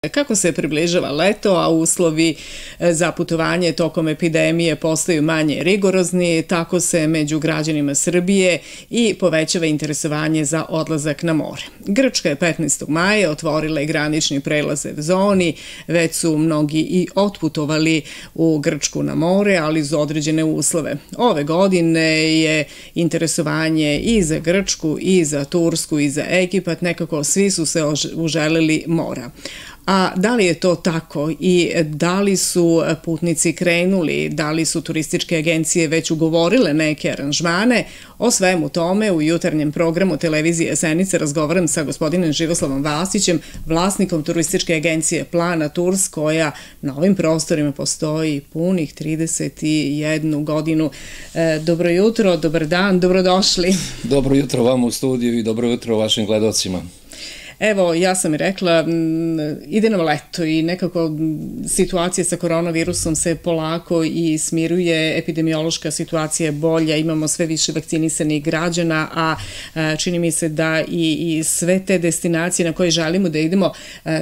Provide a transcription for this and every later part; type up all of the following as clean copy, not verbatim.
Kako se približava leto, a uslovi za putovanje tokom epidemije postaju manje rigorozni, tako se među građanima Srbije i povećava interesovanje za odlazak na more. Grčka je 15. maja otvorila i granični prelaz zoni, već su mnogi i otputovali u Grčku na more, ali uz određene uslove. Ove godine je interesovanje i za Grčku, i za Tursku, i za Egipat, nekako svi su se uželeli mora. A da li je to tako i da li su putnici krenuli, da li su turističke agencije već ugovorile neke aranžmane? O svemu tome u jutarnjem programu televizije Senica razgovaram sa gospodinom Živoslavom Vasićem, vlasnikom turističke agencije Plana Tours, koja na ovim prostorima postoji punih 31 godinu. Dobro jutro, dobar dan, dobrodošli. Dobro jutro vam u studiju i dobro jutro vašim gledalcima. Evo, ja sam i rekla, ide nam leto i nekako situacija sa koronavirusom se polako i smiruje, epidemiološka situacija je bolja, imamo sve više vakcinisanih građana, a čini mi se da i sve te destinacije na koje želimo da idemo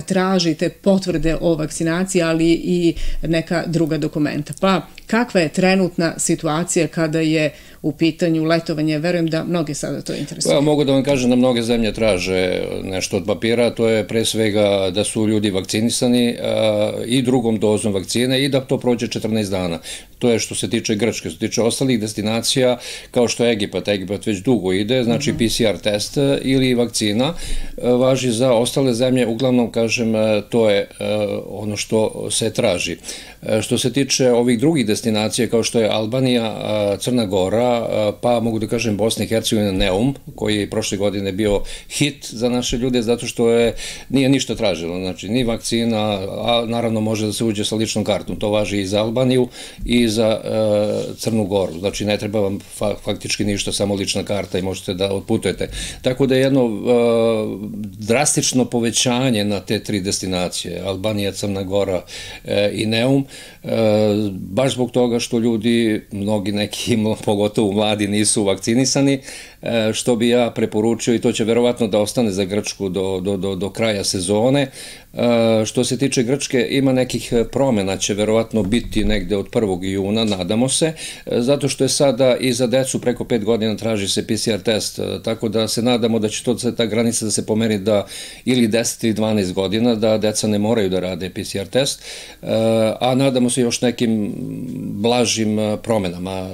tražite potvrde o vakcinaciji, ali i neka druga dokumenta. Pa, kakva je trenutna situacija kada je u pitanju letovanje? Verujem da mnogi sada to interesuju. Mogu da vam kažem da mnoge zemlje traže nešto od papira, to je pre svega da su ljudi vakcinisani i drugom dozom vakcine i da to prođe 14 dana. To je što se tiče Grčke. Što se tiče ostalih destinacija, kao što je Egipat, Egipat već dugo ide, znači PCR test ili vakcina, važi za ostale zemlje, uglavnom, kažem, to je ono što se traži. Što se tiče ovih drugih destinacija, kao što je Albanija, Crna Gora, pa mogu da kažem Bosna i Hercegovina, Neum, koji je prošle godine bio hit za naše ljude, zato što nije ništa tražilo, znači ni vakcina, a naravno može da se uđe sa ličnom kartom. To važi i za Albaniju i za Crnu Goru, znači ne treba vam faktički ništa, samo lična karta i možete da otputujete. Tako da je jedno drastično povećanje na te tri destinacije, Albanija, Crna Gora i Neum, baš zbog toga što ljudi, mnogi neki, pogotovo mladi, nisu vakcinisani, što bi ja preporučio i to će verovatno da ostane za Grčku do kraja sezone. Što se tiče Grčke, ima nekih promjena, će verovatno biti negde od 1. juna, nadamo se, zato što je sada i za decu preko 5 godina traži se PCR test, tako da se nadamo da će ta granica da se pomeri da ili 10 ili 12 godina, da deca ne moraju da rade PCR test, a nadamo se još nekim blažim promjenama.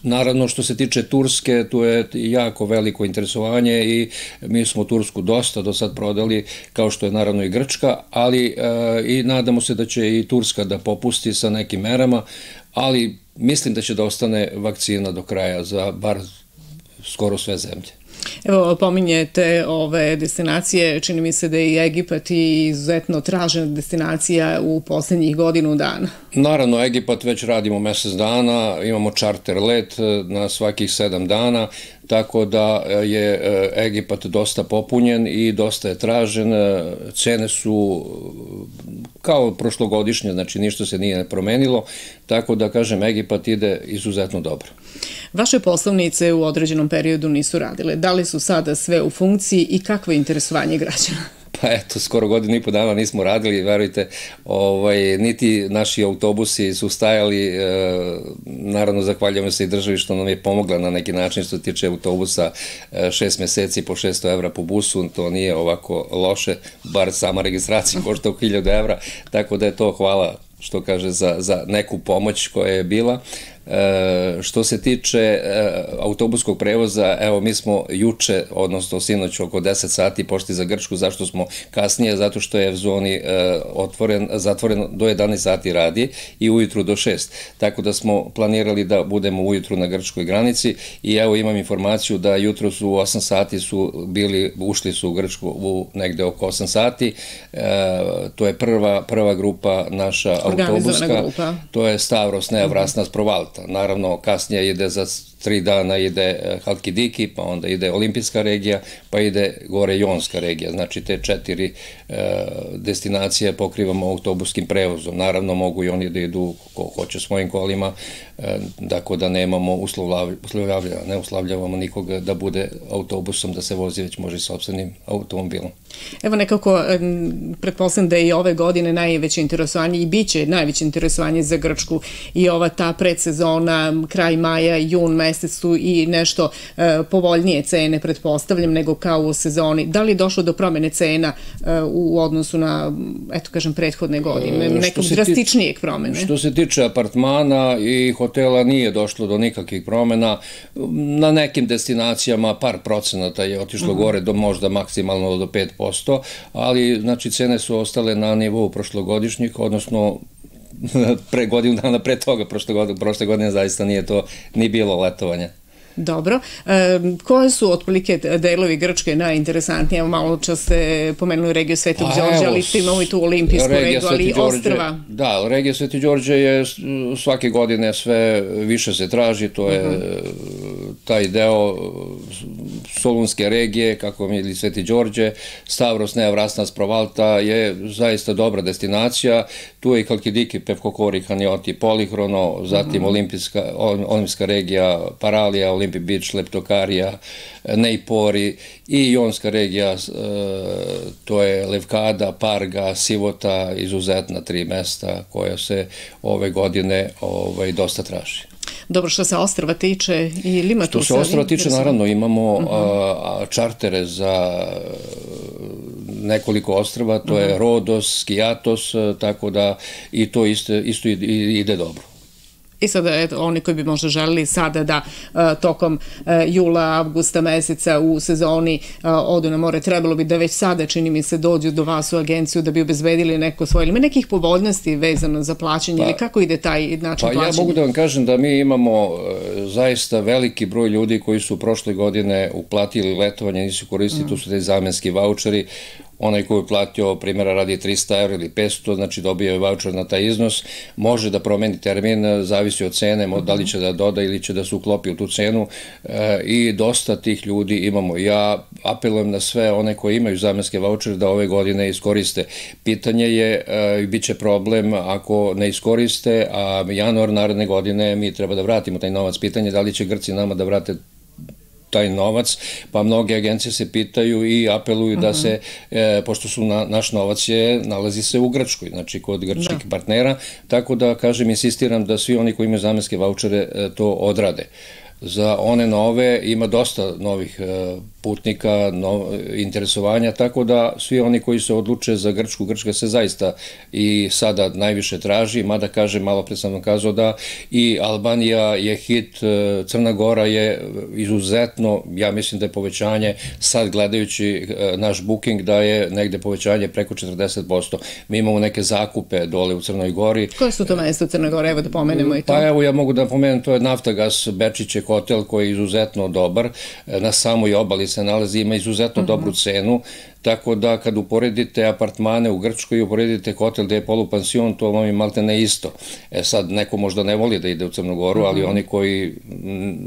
Naravno, što se tiče Turske, tu je jako veliko interesovanje i mi smo Tursku dosta do sad prodali, kao što je naravno i Grčka, ali i nadamo se da će i Turska da popusti sa nekim merama, ali mislim da će da ostane vakcina do kraja za bar skoro sve zemlje. Evo, pominjete ove destinacije, čini mi se da je i Egipat izuzetno tražena destinacija u posljednjih godinu dana. Naravno, Egipat već radimo mesec dana, imamo čarter let na svakih 7 dana, tako da je Egipat dosta popunjen i dosta je tražen, cene su kao prošlogodišnje, znači ništa se nije promenilo, tako da, kažem, Egipat ide izuzetno dobro. Vaše poslovnice u određenom periodu nisu radile. Da li su sada sve u funkciji i kakvo je interesovanje građana? Pa eto, skoro godinu i po dana nismo radili, verujte, niti naši autobusi su stajali, naravno zahvaljujemo se i državi što nam je pomogla na neki način što se tiče autobusa, 6 meseci po 600 evra po busu, to nije ovako loše, bar sama registracija košta 1000 evra, tako da je to hvala što kaže za neku pomoć koja je bila. Što se tiče autobuskog prevoza, evo mi smo juče, odnosno sinoć oko 10 sati pošli za Grčku. Zašto smo kasnije? Zato što je v zoni zatvoren do 11 sati radi i ujutru do 6. Tako da smo planirali da budemo ujutru na grčkoj granici i evo imam informaciju da jutro su u 8 sati ušli su u Grčku negde oko 8 sati. To je prva grupa naša autobuska. To je Stavros, Nea Vrasnas, Provalta. Naravno, kasnije ide za 3 dana ide Halkidiki, pa onda ide olimpijska regija, pa ide gore Jonska regija. Znači te 4 destinacije pokrivamo autobuskim prevozom. Naravno mogu i oni da idu ko hoće svojim kolima, tako da nemamo uslovljavanja, ne uslovljavamo nikoga da bude autobusom, da se vozi, već može i sopstvenim automobilom. Evo nekako, pretpostavljam da je i ove godine najveće interesovanje i bit će najveće interesovanje za Grčku i ova ta predsezona, kraj maja, jun mesec su i nešto povoljnije cene, pretpostavljam, nego kao u sezoni. Da li je došlo do promene cena u odnosu na, eto kažem, prethodne godine, nekog drastičnijeg promene? Što se tiče apartmana i hotela nije došlo do nikakvih promena. Na nekim destinacijama par procenata je otišlo gore do možda maksimalno do 5%, ali znači cene su ostale na nivou prošlogodišnjih, odnosno pre godinu dana pre toga, prošle godine zaista nije to ni bilo letovanja. Dobro. Koje su otprilike delovi Grčke najinteresantnije? Malo čas ste pomenuli regiju Svetog Đorđa, ali imamo i tu olimpijsku regiju, ali i ostrva. Da, regija Sveti Đorđe je svake godine sve više se traži, to je taj deo Solunske regije, kako mi ili Sveti Đorđe, Stavros, Nea Vrasnas, Provalta je zaista dobra destinacija. Tu je i Halkidiki, Pevkokori, Hanioti, Polihrono, zatim olimpijska regija Paralija, Olympic Beach, Leptokarija, Neipori i Jonska regija, to je Levkada, Parga, Sivota, izuzetna 3 mesta koja se ove godine dosta traži. Dobro, što se ostrva tiče, ili ima tu... Što se ostrva tiče, naravno, imamo čartere za nekoliko ostrva, to je Rodos, Skiatos, tako da i to isto ide dobro. I sada, oni koji bi možda želeli sada da tokom jula, avgusta meseca u sezoni odu na more, trebalo bi da već sada, čini mi se, dođu do vas u agenciju da bi obezbedili neko svoje, ili ima nekih povoljnosti vezano za plaćanje, ili kako ide taj način plaćanja? Pa ja mogu da vam kažem da mi imamo zaista veliki broj ljudi koji su prošle godine uplatili letovanje, nisu koristili, tu su te zamenski vaučeri. Onaj koji je platio, primjera radi 300 € ili 500, znači dobio je vaučer na taj iznos, može da promeni termin, zavisi od cene, da li će da doda ili će da se uklopi u tu cenu i dosta tih ljudi imamo. Ja apelujem na sve one koji imaju zamenske vaučere da ove godine iskoriste. Pitanje je, bit će problem ako ne iskoriste, a januar naredne godine mi treba da vratimo taj novac. Pitanje je da li će Grci nama da vrate taj novac, pa mnoge agencije se pitaju i apeluju da se, pošto su naš novac nalazi se u Grčkoj, znači kod grčkih partnera, tako da, kažem, insistiram da svi oni koji imaju zamenske vaučere to odrade. Za one nove ima dosta novih putnika, interesovanja, tako da svi oni koji se odluče za Grčku, Grčka se zaista i sada najviše traži, mada kažem, malo pre sam vam kazao da i Albanija je hit, Crna Gora je izuzetno, ja mislim da je povećanje, sad gledajući naš booking, da je negde povećanje preko 40%. Mi imamo neke zakupe dole u Crnoj Gori. Koje su to mesta u Crnoj Gori? Evo da pomenemo i to. Pa evo, ja mogu da pomenem, to je Naftagas Bečiće hotel koji je izuzetno dobar, na samoj obali se nalazi, ima izuzetno dobru cenu, tako da kad uporedite apartmane u Grčkoj i uporedite hotel gde je polupansion, to vam je malte ne isto. Sad, neko možda ne voli da ide u Crnu Goru, ali oni koji,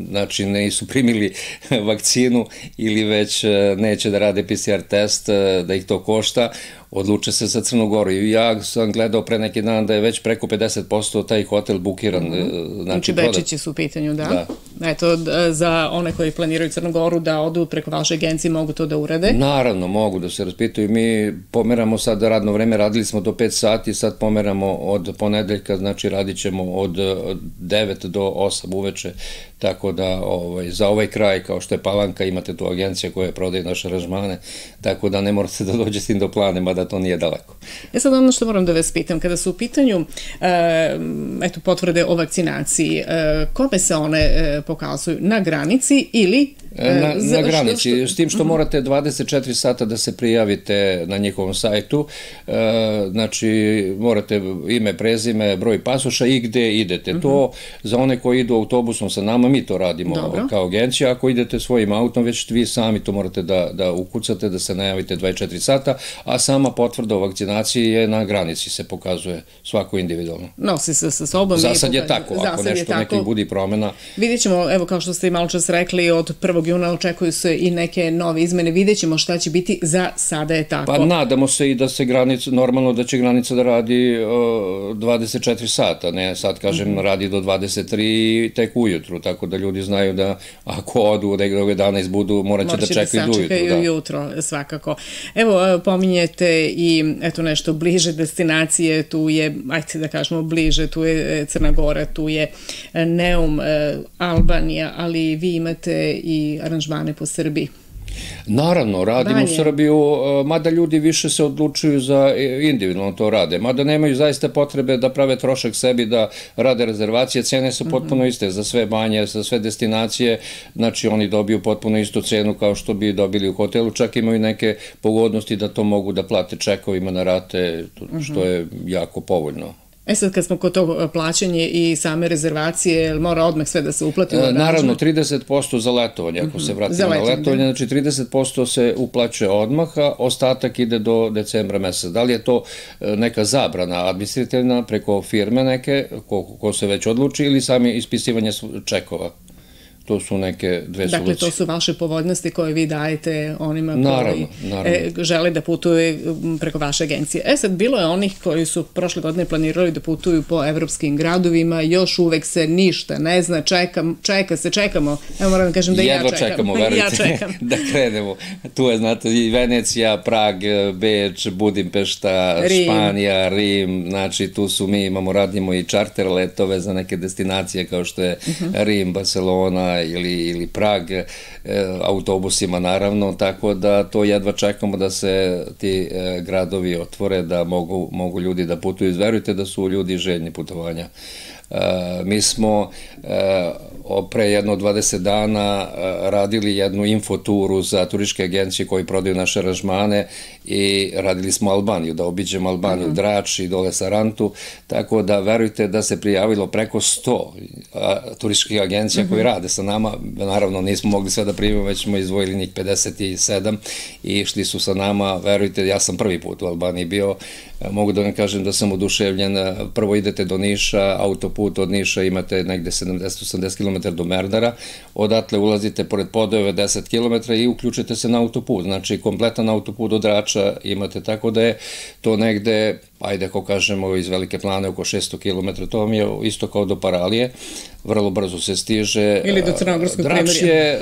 znači, nisu primili vakcinu ili već neće da rade PCR test, da ih to košta, odluče se za Crnu Goru. I ja sam gledao pre neki dan da je već preko 50% taj hotel bukiran. Znači, Bečići su u pitanju, da? Eto, za one koji planiraju Crnu Goru da odu preko vaše agencije, mogu to da urade? Naravno, mogu da se raspitaju. Mi pomeramo sad radno vreme, radili smo do 5 sati, sad pomeramo od ponedeljka, znači radit ćemo od 9 do 8 uveče, tako da za ovaj kraj, kao što je Palanka, imate tu agencija koja prodaje naše aranžmane, tako da ne morate da dođete do plane, mada to nije daleko. Sad ono što moram da vas pitam, kada su u pitanju potvrde o vakcinaciji, kome se one pokazuju? Na granici ili... Na granici, s tim što morate 24 sata da se prijavite na njihovom sajtu, znači morate ime, prezime, broj pasoša i gde idete. To za one koji idu autobusom sa nama, mi to radimo kao agencija, ako idete svojim autom, već vi sami to morate da ukucate, da se najavite 24 sata, a sama potvrda o vakcinaciji je na granici, se pokazuje svako individualno. Nosi se sa sobom. Za sad je tako, ako nešto nekih budi promjena. Vidjet ćemo, evo kao što ste i malo čas rekli, od 1. juna očekuju se i neke nove izmene, vidjet ćemo šta će biti, za sada je tako. Pa nadamo se i da se granica, normalno da će granica da radi 24 sata, ne sad kažem radi do 23 tek ujutru, tako da ljudi znaju da ako odu od 11 budu, morat će da čekaju do ujutru. Morat će da jutro, svakako. Evo, pominjete i eto nešto bliže destinacije, tu je, ajde da kažemo bliže, tu je Crna Gora, tu je Neum, Albanija, ali vi imate i aranžmane po Srbiji. Naravno, radimo u Srbiju, mada ljudi više se odlučuju za individualno to rade, mada nemaju zaista potrebe da prave trošak sebi, da rade rezervacije, cene su potpuno iste za sve banje, za sve destinacije, znači oni dobiju potpuno istu cenu kao što bi dobili u hotelu, čak imaju neke pogodnosti da to mogu da plate čekovima na rate, što je jako povoljno. Sad kad smo kod tog plaćanja i same rezervacije, mora odmah sve da se uplati? Naravno, 30% za letovanje, ako se vratimo na letovanje, znači 30% se uplaćuje odmah, a ostatak ide do decembra meseca. Da li je to neka zabrana administrativna preko firme neke, ko se već odluči, ili sami ispisivanje čekova? To su neke dve solucije. Dakle, to su vaše povoljnosti koje vi dajete onima koji žele da putuju preko vaše agencije. Sad, bilo je onih koji su prošle godine planirali da putuju po evropskim gradovima, još uvek se ništa ne zna, čekamo. Evo moram da kažem da ja čekam. Jedva čekamo, verujte, da krenemo. Tu je, znate, i Venecija, Prag, Beč, Budimpešta, Španija, Rim, znači tu su mi, radimo i čarter letove za neke destinacije kao što je Rim, Barcelona, ili Prag, autobusima naravno, tako da to jedva čekamo da se ti gradovi otvore, da mogu ljudi da putuju. Verujte da su ljudi željni putovanja. Mi smo pre jedno 20 dana radili jednu infoturu za turističke agencije koji prodaju naše aranžmane i radili smo Albaniju, da obiđemo Albaniju, Drač i dole Sarantu, tako da verujte da se prijavilo preko 100 turističkih agencija koji rade sa nama. Naravno nismo mogli sve da primimo, već smo izdvojili njih 57 i išli su sa nama. Verujte, ja sam prvi put u Albaniji bio, mogu da vam kažem da sam oduševljen. Prvo idete do Niša, autoput od Niša imate negde 70-80 km do Merdara, odatle ulazite pored Podojeve 10 km i uključite se na autoput, znači kompletan autoput od Drača imate, tako da je to negde, ajde ako kažemo iz Velike Plane oko 600 km, to vam je isto kao do Paralije, vrlo brzo se stiže. Ili do Crnogorskog Primorja.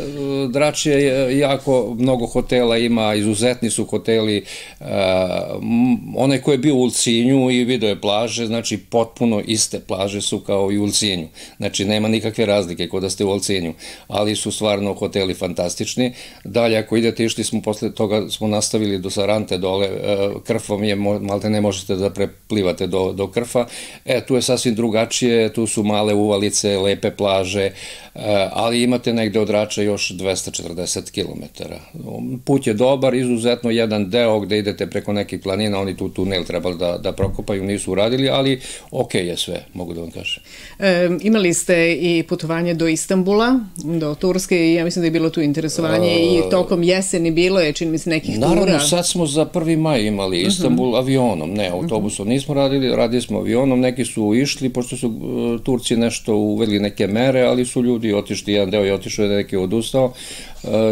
Drač je jako mnogo hotela ima, izuzetni su hoteli, onaj ko je bio u Ulcinju i video je plaže, znači potpuno iste plaže su kao i u Ulcinju, znači nema nikakve razlike kod da ste u Ulcinju, ali su stvarno hoteli fantastični. Dalje ako idete, išli smo, posle toga smo nastavili do Sarante dole, Krfom je, malte ne možete da preplivate do Krfa, tu je sasvim drugačije, tu su male uvalice, lepe plaže, ali imate negde od Drača još 240 km. Put je dobar, izuzetno jedan deo gde idete preko nekih planina, oni tu tunel trebali da prokopaju, nisu uradili, ali ok je sve, mogu da vam kažem. Imali ste i putovanje do Istanbula, do Turske, i ja mislim da je bilo tu interesovanje i tokom jeseni bilo je, čini mi se, nekih tura. Naravno, sad smo za 1. maj imali Istanbul avionom, ne, autobusom nismo radili smo avionom, neki su išli, pošto su Turci nešto uveli neke mere, ali su ljudi otišli, jedan deo je otišao, neki je odustao,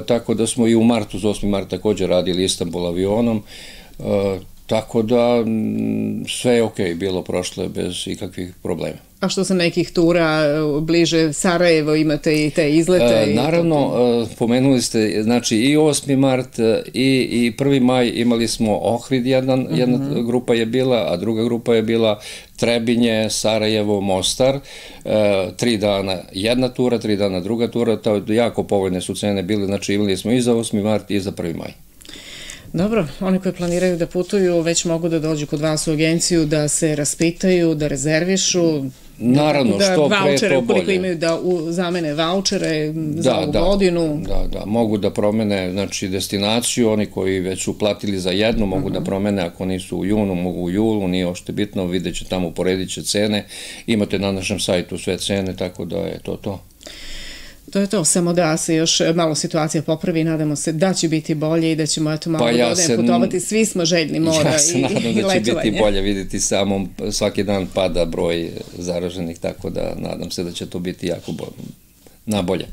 tako da smo i u martu, za 8. mart također radili Istanbul avionom, tako da sve je okej bilo prošle bez ikakvih problema. A što se nekih tura bliže Sarajevo, imate i te izlete? Naravno, pomenuli ste, znači i 8. mart i 1. maj imali smo Ohrid, jedna grupa je bila, a druga grupa je bila Trebinje, Sarajevo, Mostar, 3 dana jedna tura, 3 dana druga tura, jako povoljne su cene bile, znači imali smo i za 8. mart i za 1. maj. Dobro, oni koji planiraju da putuju već mogu da dođu kod vas u agenciju, da se raspitaju, da rezervišu, naravno, što pre to bolje. Ukoliko imaju da zamene vaučere za ovu godinu. Da, mogu da promene, znači, destinaciju, oni koji već su platili za jednu, mogu da promene, ako nisu u junu, mogu u julu, nije ošte bitno, vidjet će tamo, uporedit će cene, imate na našem sajtu sve cene, tako da je to. To je to, samo da se još malo situacija popravi, nadamo se da će biti bolje i da ćemo malo godine putovati, svi smo željni mora i letovanja. Ja se nadam da će biti bolje, vidjeti samo svaki dan pada broj zaraženih, tako da nadam se da će to biti jako nabolje.